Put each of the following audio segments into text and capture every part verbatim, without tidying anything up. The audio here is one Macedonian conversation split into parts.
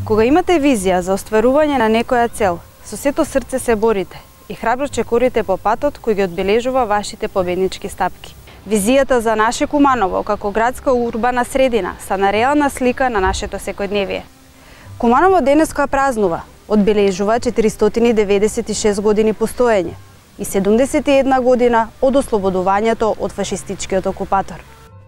Кога имате визија за остварување на некоја цел, со сето срце се борите и храбро чекорите по патот кој ги одбележува вашите победнички стапки. Визијата за наше Куманово како градска урбана средина са на реална слика на нашето секојдневие. Куманово денеска празнува, одбележува четиристотини деветдесет и шест години постоење и седумдесет и една година од ослободувањето од фашистичкиот окупатор.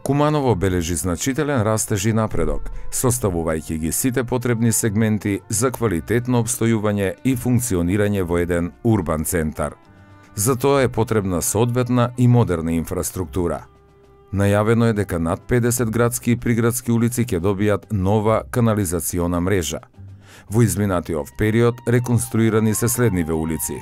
Куманово бележи значителен растеж и напредок, составувајќи ги сите потребни сегменти за квалитетно обстојување и функционирање во еден урбан центар. За тоа е потребна соодветна и модерна инфраструктура. Најавено е дека над педесет градски и приградски улици ќе добијат нова канализациона мрежа. Во изминатиот период реконструирани се следниве улици: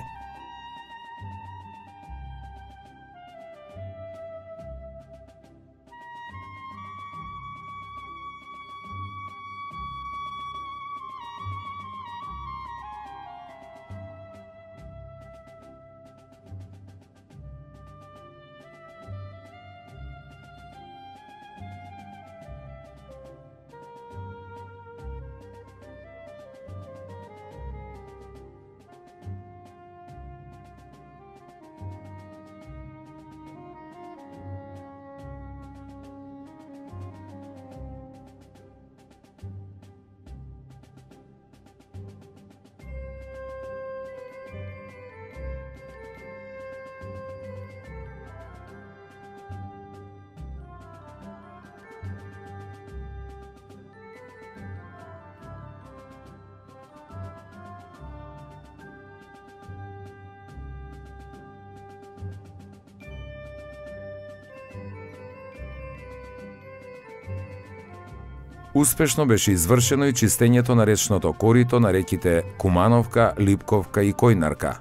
Успешно беше извршено и чистењето на речното корито на реките Кумановка, Липковка и Којнарка.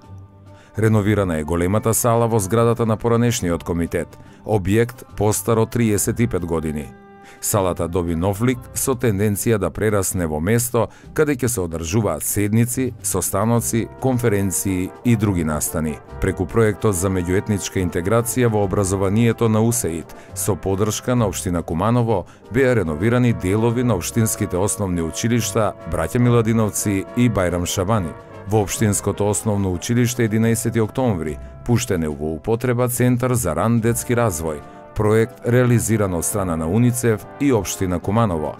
Реновирана е големата сала во зградата на поранешниот комитет, објект постар од триесет и пет години. Салата доби нов лик со тенденција да прерасне во место каде ќе се одржуваат седници, состаноци, конференции и други настани. Преку проектот за меѓуетничка интеграција во образованието на УСЕИД, со подршка на општина Куманово, беа реновирани делови на општинските основни училишта Браќа Миладиновци и Бајрам Шабани. Во општинското основно училиште единаесети октомври пуштен е во употреба Центар за ран детски развој, проект реализиран од страна на УНИЦЕФ и општина Куманово.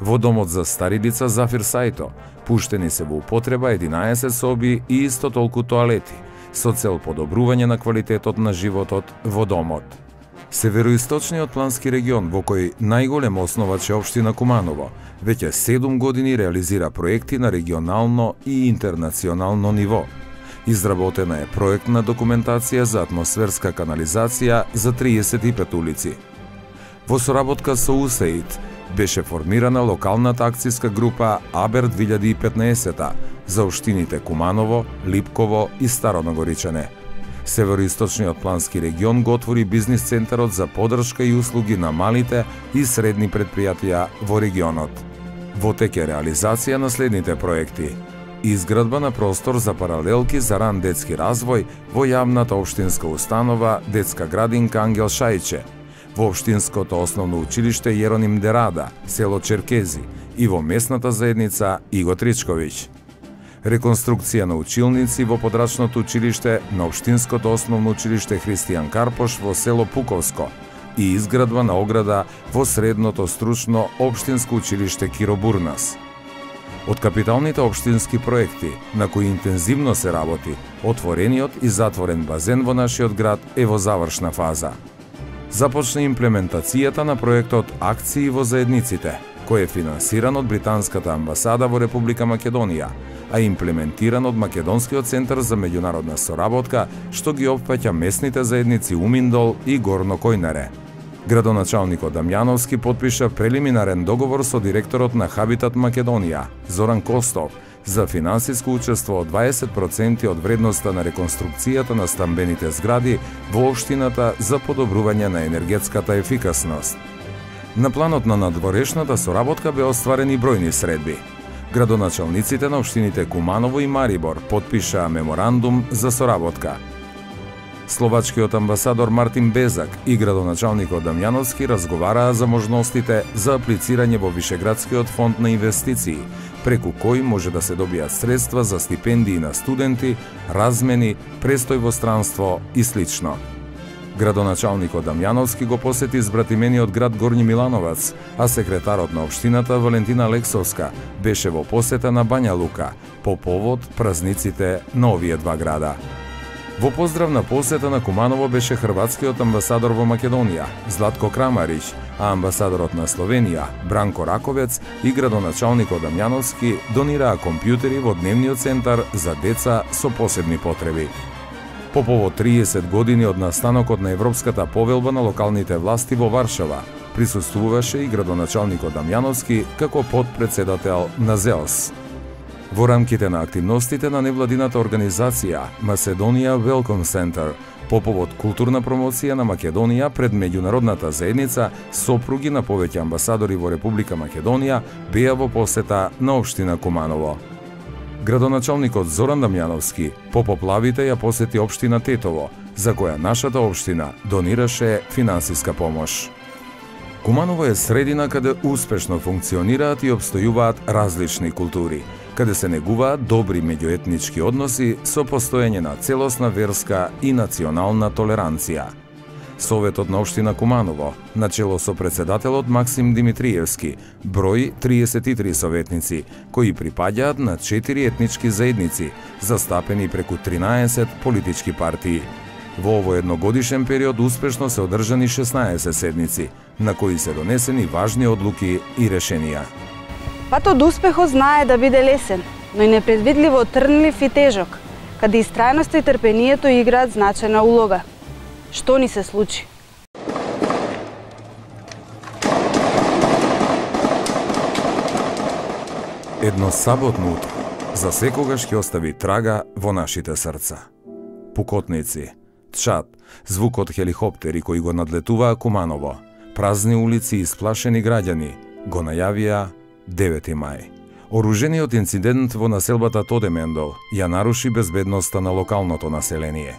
Во домот за стари лица Зафир Сајто пуштени се во употреба единаесет соби и исто толку тоалети, со цел подобрување на квалитетот на животот во домот. Североисточниот плански регион, во кој најголем основач е општина Куманово, веќе седум години реализира проекти на регионално и интернационално ниво. Изработена е проектна документација за атмосферска канализација за триесет и пет улици. Во соработка со УСЕИД беше формирана локалната акцијска група АБЕР две илјади и петнаесет за општините Куманово, Липково и Старо Нагоричане. Североисточниот плански регион го отвори бизнис центарот за подршка и услуги на малите и средни предпријатија во регионот. Во тек е реализација на следните проекти: изградба на простор за паралелки за ран детски развој во јавната општинска установа Детска градинка Ангел Шајче, во општинското основно училиште Јероним Дерада, село Черкези, и во местната заедница Иго Тричковиќ. Реконструкција на училници во подрачното училиште на општинското основно училиште Христијан Карпош во село Пуковско и изградба на ограда во средното стручно општинско училиште Киро Бурнас. Од капиталните општински проекти, на кои интензивно се работи, отворениот и затворен базен во нашиот град е во завршна фаза. Започна имплементацијата на проектот Акции во заедниците, кој е финансиран од Британската амбасада во Република Македонија, а имплементиран од Македонскиот центар за меѓународна соработка, што ги опфаќа местните заедници Уминдол и Горно Којнаре. Градоначалникот Дамјановски потпиша прелиминарен договор со директорот на Хабитат Македонија, Зоран Костов, за финансиско учество од дваесет проценти од вредноста на реконструкцијата на стамбените згради во општината за подобрување на енергетската ефикасност. На планот на надворешната соработка беа остварени бројни средби. Градоначалниците на општините Куманово и Марибор потпишаа меморандум за соработка. словачкиот амбасадор Мартин Безак и градоначалникот Дамјановски разговараа за можностите за аплицирање во Вишеградскиот фонд на инвестиции, преку кој може да се добијат средства за стипендии на студенти, размени, престој во странство и слично. Градоначалникот Дамјановски го посети збратимениот град Горњи Милановац, а секретарот на општината Валентина Лексовска беше во посета на Бања Лука по повод празниците на овие два града. Во поздравна посета на Куманово беше хрватскиот амбасадор во Македонија Златко Крамарич, а амбасадорот на Словенија Бранко Раковец и градоначалникот Дамјановски донираа компјутери во дневниот центар за деца со посебни потреби. По повод триесет години од настанокот на Европската повелба на локалните власти во Варшава, присуствуваше и градоначалникот Дамјановски како подпредседател на ЗЕОС. Во рамките на активностите на невладината организација Macedónia Welcome Center, по повод културна промоција на Македонија пред меѓународната заедница, сопруги на повеќе амбасадори во Република Македонија беа во посета на општина Куманово. Градоначалникот Зоран Дамјановски по поплавите ја посети општина Тетово, за која нашата општина донираше финансиска помош. Куманово е средина каде успешно функционираат и обстојуваат различни култури, каде се негуваат добри меѓуетнички односи со постоење на целосна верска и национална толеранција. Советот на општина Куманово, начело со председателот Максим Димитриевски, брои триесет и три советници, кои припаѓаат на четири етнички заедници, застапени преку тринаесет политички партии. Во овој едногодишен период успешно се одржани шеснаесет седници, на кои се донесени важни одлуки и решенија. Патот до успехот знае да биде лесен, но и непредвидливо трнлив и тежок, каде истрајноста и трпението играат значајна улога. Што ни се случи? Едно саботно утро за секогаш ќе остави трага во нашите срца. Пукотници, чад, звук од хеликоптери кои го надлетуваа Куманово, празни улици и сплашени граѓани го најавија девети мај. Оружениот инцидент во населбата Тодемендол ја наруши безбедноста на локалното население.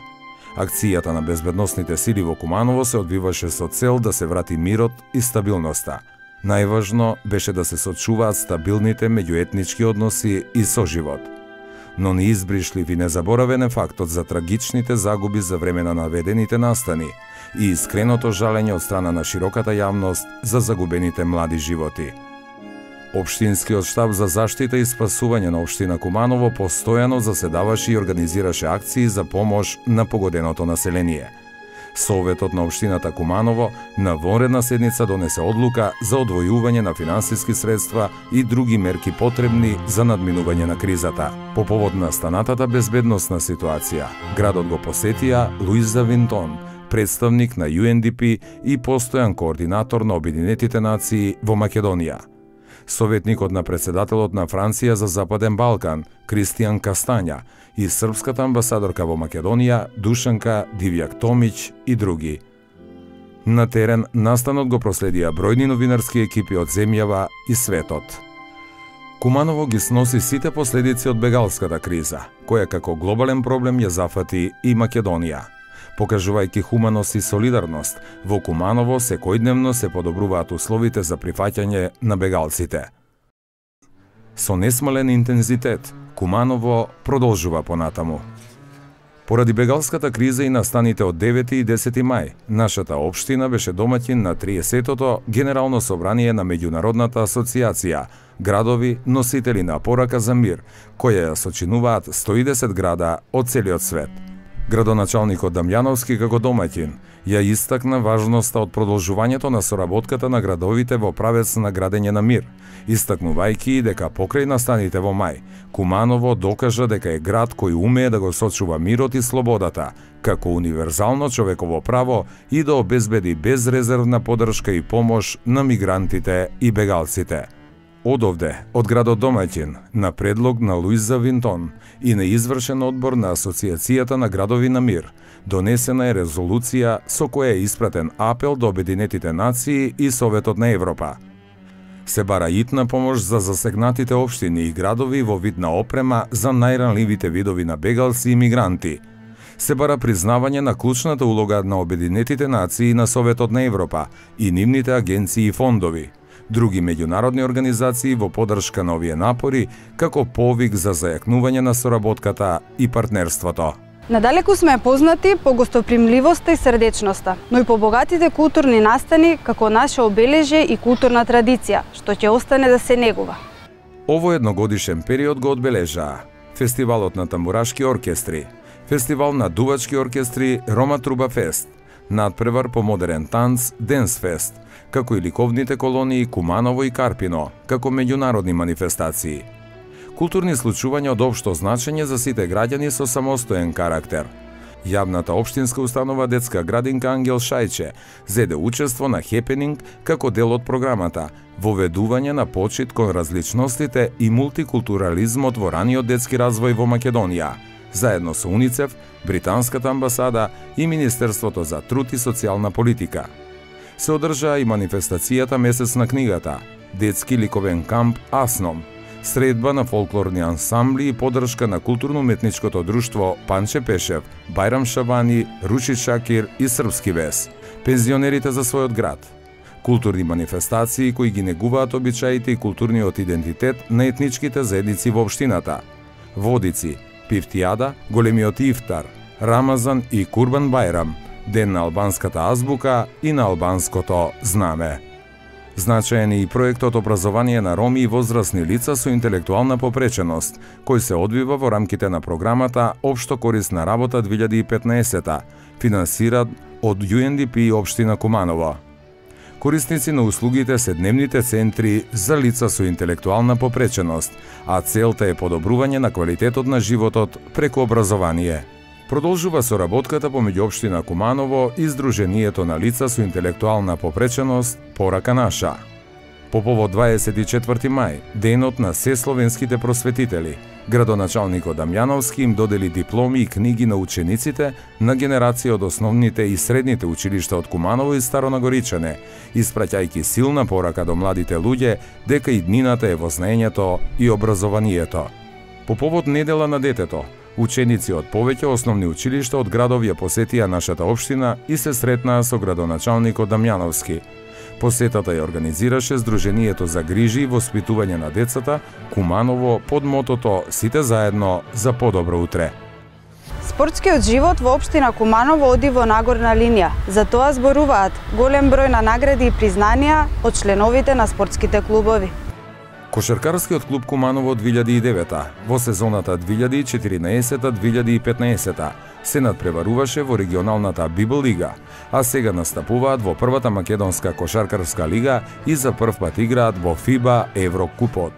Акцијата на безбедносните сили во Куманово се одвиваше со цел да се врати мирот и стабилноста. Најважно беше да се сочуваат стабилните меѓуетнички односи и соживот. Но неизбришлив и незаборавен е фактот за трагичните загуби за време на наведените настани и искреното жалење од страна на широката јавност за загубените млади животи. Општинскиот штаб за заштита и спасување на општина Куманово постојано заседаваше и организираше акции за помош на погоденото население. Советот на општината Куманово на вонредна седница донесе одлука за одвојување на финансиски средства и други мерки потребни за надминување на кризата. По повод на станатата безбедносна ситуација, градот го посетија Луиза Винтон, представник на Ю Ен Ди Пи и постојан координатор на Обединетите нации во Македонија. Советникот на председателот на Франција за Западен Балкан, Кристијан Кастања, и српската амбасадорка во Македонија, Душанка Дивјак Томиќ и други. На терен настанот го проследија бројни новинарски екипи од земјава и светот. Куманово ги сноси сите последици од бегалската криза, која како глобален проблем ја зафати и Македонија. Покажувајќи хуманост и солидарност, во Куманово секојдневно се подобруваат условите за прифаќање на бегалците. Со несмален интензитет, Куманово продолжува понатаму. Поради бегалската криза и настаните од девети и десети мај, нашата општина беше домаќин на триесетото Генерално собрание на Меѓународната асоциација градови носители на порака за мир, која ја сочинуваат сто и десет града од целиот свет. Градоначалникот Дамјановски како домаќин ја истакна важноста од продолжувањето на соработката на градовите во правец на градење на мир, истакнувајќи дека покрај настаните во мај, Куманово докажа дека е град кој умее да го сочува мирот и слободата, како универзално човеково право и да обезбеди безрезервна поддршка и помош на мигрантите и бегалците. Одовде, од градот домаќин, на предлог на Луиза Винтон и на извршен одбор на Асоциацијата на градови на мир, донесена е резолуција со која е испратен апел до Обединетите нации и Советот на Европа. Се бара итна помош за засегнатите општини и градови во вид на опрема за најранливите видови на бегалци и мигранти. Се бара признавање на клучната улога на Обединетите нации и на Советот на Европа и нивните агенции и фондови, други меѓународни организации во поддршка на овие напори, како повик за зајакнување на соработката и партнерството. Надалеку сме познати по гостопримливоста и срдечноста, но и по богатите културни настани како наше обележје и културна традиција, што ќе остане да се негува. Ово едногодишен период го одбележаа Фестивалот на тамбурашки оркестри, Фестивал на дувачки оркестри Рома Труба Фест, надпревар по модерен танц Денс Фест, како и ликовните колонии Куманово и Карпино, како меѓународни манифестации. Културни случувања од општо значење за сите граѓани со самостоен карактер. Јавната општинска установа Детска градинка Ангел Шајче зеде учество на хепенинг како дел од програмата воведување на почит кон различностите и мултикултурализмот во раниот детски развој во Македонија, заедно со УНИЦЕФ, Британската амбасада и Министерството за труд и социјална политика. Се одржаа и манифестацијата Месец на книгата, детски ликовен камп Асном, средба на фолклорни ансамбли и поддршка на културно-уметничкото друштво Панче Пешев, Бајрам Шабани, Руши Шакир и Српски вес, пензионерите за својот град. Културни манифестации кои ги негуваат обичаите и културниот идентитет на етничките заедници во општината. Водици, Пифтијада, големиот ифтар, Рамазан и Курбан Бајрам, ден на албанската азбука и на албанското знаме. Значаен е и проектот образование на роми и возрастни лица со интелектуална попреченост, кој се одвива во рамките на програмата Општо корисна работа две илјади и петнаесета, финансиран од Ю Ен Ди Пи и општина Куманово. Корисници на услугите се дневните центри за лица со интелектуална попреченост, а целта е подобрување на квалитетот на животот преку образование. Продолжува соработката помеѓу општина Куманово и Сдруженијето на лица со интелектуална попреченост Порака наша. По повод дваесет и четврти мај, денот на сесловенските просветители, градоначалникот Дамјановски им додели дипломи и книги на учениците на генерација од основните и средните училишта од Куманово и Старонагоричане, испраќајќи силна порака до младите луѓе дека и днината е во знаењето и образованието. По повод недела на детето, ученици од повеќе основни училишта од градов ја посетија нашата општина и се сретнаа со градоначалникот Дамјановски. Посетата ја организираше Сдруженијето за грижи и воспитување на децата Куманово под мотото Сите заедно за подобро утре. Спортскиот живот во општина Куманово оди во нагорна линија. За тоа зборуваат голем број на награди и признанија од членовите на спортските клубови. Кошаркарскиот клуб Куманово две илјади и девета во сезоната две илјади и четиринаесета две илјади и петнаесета се надпреваруваше во регионалната Библ лига, а сега настапуваат во првата македонска кошаркарска лига и за прв пат играат во ФИБА Еврокупот.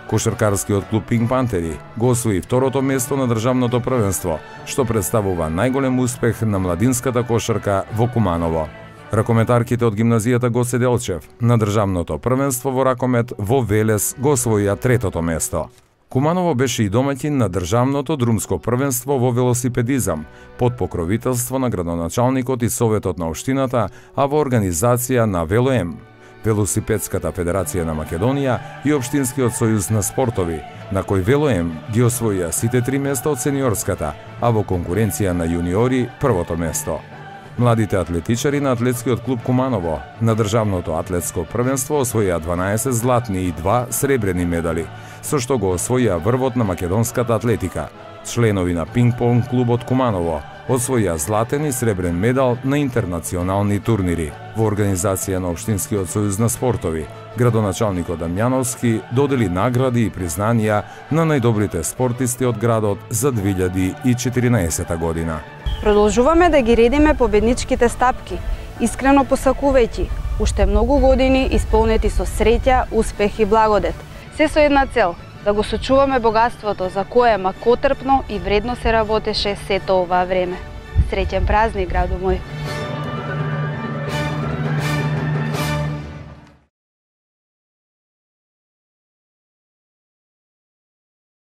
Кошаркарскиот клуб Пинк Пантери го освои второто место на државното првенство, што представува најголем успех на младинската кошарка во Куманово. Ракометарките од гимназијата Гоце Делчев на државното првенство во ракомет во Велес го освоија третото место. Куманово беше и домаќин на државното друмско првенство во велосипедизам под покровителство на градоначалникот и советот на општината, а во организација на Велоем, Велосипедската федерација на Македонија и Општинскиот сојуз на спортови, на кој Велоем ги освоија сите три места од сениорската, а во конкуренција на јуниори првото место. Младите атлетичари на атлетскиот клуб Куманово на државното атлетско првенство освоија дванаесет златни и два сребрени медали, со што го освоија врвот на македонската атлетика. Членови на пинг-понг клубот Куманово освоија златен и сребрен медал на интернационални турнири. Во организација на Општинскиот сојуз на спортови, градоначалникот Дамјановски додели награди и признанија на најдобрите спортисти од градот за две илјади и четиринаесета година. Продолжуваме да ги редиме победничките стапки, искрено посакувајќи уште многу години исполнети со среќа, успех и благодет. Се со една цел – да го сочуваме богатството за кое макотрпно и вредно се работеше сето оваа време. Среќен празник, градо мој!